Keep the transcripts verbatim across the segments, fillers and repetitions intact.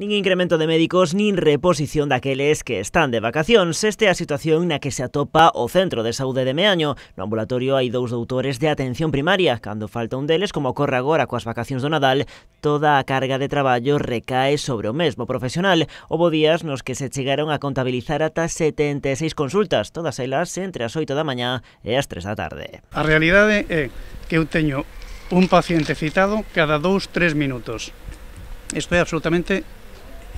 Nin incremento de médicos, nin reposición daqueles que están de vacacións. Esta é a situación na que se atopa o Centro de Saúde de Meaño. No ambulatorio hai dous doutores de atención primaria. Cando falta un deles, como ocorre agora coas vacacións do Nadal, toda a carga de traballo recae sobre o mesmo profesional. Houbo días nos que se chegaron a contabilizar ata setenta e seis consultas, todas elas entre as oito da mañá e as tres da tarde. A realidade é que eu teño un paciente citado cada dous, tres minutos. Isto é absolutamente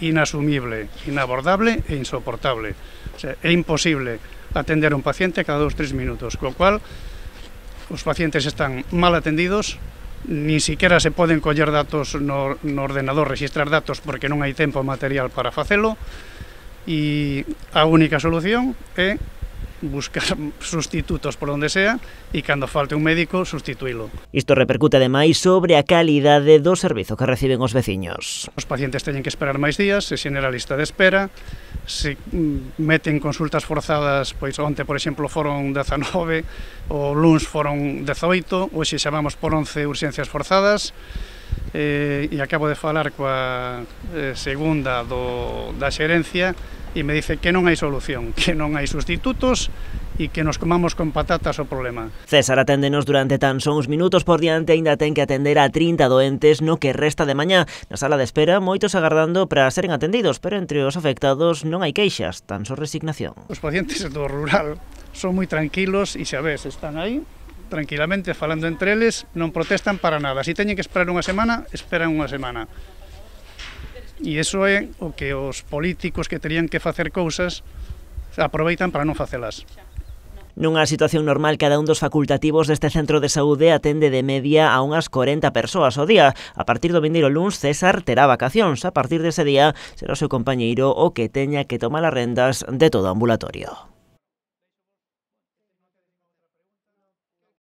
inasumible, inabordable e insoportable. O sea, é imposible atender a un paciente cada dos, tres minutos, co cual os pacientes están mal atendidos, ni siquiera se poden coller datos no, no ordenador, registrar datos, porque non hai tempo material para facelo, e a única solución é buscar sustitutos por onde sea e cando falte un médico, sustituílo. Isto repercute ademais sobre a calidade do servizo que reciben os veciños. Os pacientes teñen que esperar máis días, se xenera a lista de espera, se meten consultas forzadas, pois onte, por exemplo, foron dezanove, o luns foron dezoito, hoxe xa vamos por once urxencias forzadas, eh, e acabo de falar coa eh, segunda do, da xerencia, e me dice que non hai solución, que non hai sustitutos e que nos comamos con patatas o problema. César aténdenos durante tan só uns minutos por diante, aínda ten que atender a trinta doentes no que resta de mañá. Na sala de espera, moitos agardando para seren atendidos, pero entre os afectados non hai queixas, tan só resignación. Os pacientes do rural son moi tranquilos e xa ves, están aí tranquilamente falando entre eles, non protestan para nada. Se teñen que esperar unha semana, esperan unha semana. E iso é o que os políticos que terían que facer cousas aproveitan para non facelas. Nunha situación normal, cada un dos facultativos deste centro de saúde atende de media a unhas corenta persoas ao día. A partir do vindeiro luns, César terá vacacións. A partir dese día, será o seu compañeiro o que teña que tomar as rendas de todo o ambulatorio.